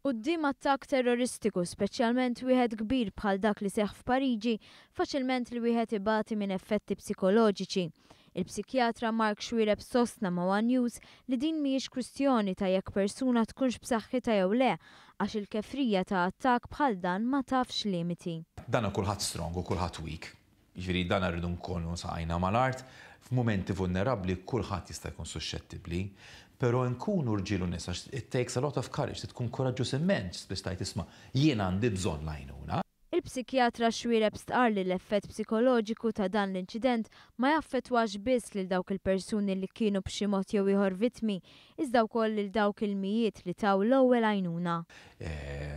Quddiem attakk terroristiku, speċjalment wieħed kbir bħal dak li seħħ f'Pariġi, faċilment li wieħed ibati minn effetti psikoloġiċi. Il-psikjatra Mark Xuereb sostna ma' One News li din mhijiex kwistjoni ta' jekk persuna tkunx b'saħħitha jew le, għax il-kefrija ta' attakk bħal dan ma tafx limiti. Dana kulħadd strong u kulħadd weak. Jiġifieri dan rridu nkunu saqajna mal-art, f'mumenti vulnerabbli kulħadd jista' jkun suxxettibbli, però nkunu rġiel u nisa, it takes a lot of courage, trid tkun kuraġġuż immens biex tgħid, "Isma', jien għandi bżonn l-għajnuna." Il-psikjatra Xuereb stqarr li l-effett psikoloġiku ta' dan l-inċident ma jaffettwax biss lil dawk il-persuni li kienu b'xi mod jew ieħor vittmi, iżda wkoll lil dawk il-mijiet li taw l-ewwel għajnuna.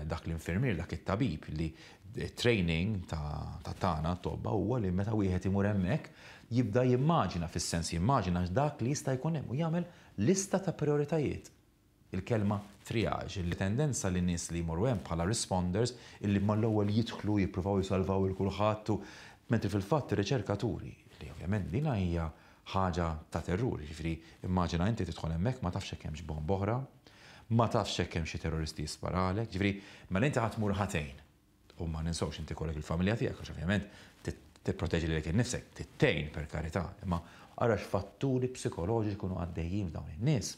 Dak l-infirmier, dak it-tabib li training ta' tagħna tobba huwa li meta wieħed imur hemmhekk jibda jimmaġina, fis-sens jimmaġina dak li jista' jkun hemm u jagħmel lista ta' prioritajiet. Il-kelma triage, li tendenza li nies li jmorru hemm bħala responders illi mal-ewwel jidħlu jippruvaw jisalvaw il kulħadd, mentri fil-fatt ir-riċerkaturi li ovvjament dina hija ħaġa ta' terrur, jiġifieri immaġina inti tidħol hemmhekk, ma tafx hekk hemmx bomba oħra, ma tafx hekk hemm xi terroristi jisparalek, jiġifieri mela inti ħa tmur ħa tgħin. U ma ninsewx inti kollek il-familja tiegħek, għax ovvjament tipproteġi lilek innifsek, tgħin per karità, imma ara x'fatturi psikoloġiċi jkunu għaddejjin f'dawn in-nies.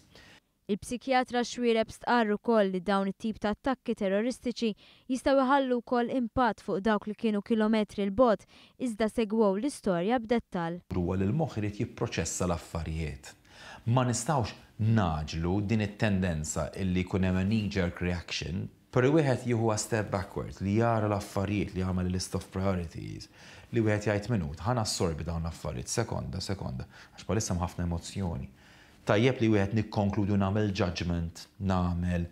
Il-psikjatra Xuereb stqarr ukoll li dawn it-tip ta' attakki terroristiċi jistgħu jħallu wkoll impatt fuq dawk li kienu kilometri 'l bogħod iżda segwew l-istorja b'dettall. Huwa li l-moħħ irid jipproċessa l-affarijiet. Ma nistgħux ngħaġġlu din it-tendenza illi jkun hemm a knee-jerk reaction, però wieħed jieħu a step backward, li jara l-affarijiet, li jagħmel list of priorities, li wieħed jgħid, "Minut, ħa nassorbi dawn l-affarijiet, sekonda, sekonda, għax bħalissa ħafna emozzjoni. Tajjeb li wieħed nikkonkludu, nagħmel judgment, nagħmel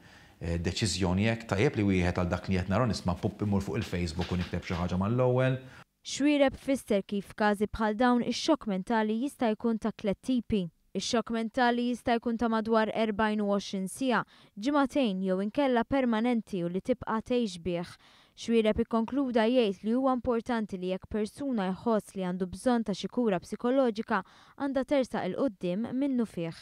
deċiżjoni hekk, tajjeb li wieħed għal dak li qed nara nisma' pup imur fuq il-Facebook u nikteb xi ħaġa mal-ewwel?" Xuereb fisser kif każi bħal dawn ix-xokk mentali jista' jkun ta' tliet tipi. Ix-xokk mentali jista' jkun ta' madwar 24 siegħa, ġimagħtejn jew inkella permanenti u li tibqa' tgħix bih. Xuereb ikkonkluda jgħid li huwa importanti li jekk persuna jħoss li għandu bżonn ta' xi kura psikoloġika, għandha tersaq 'il quddiem minnufih.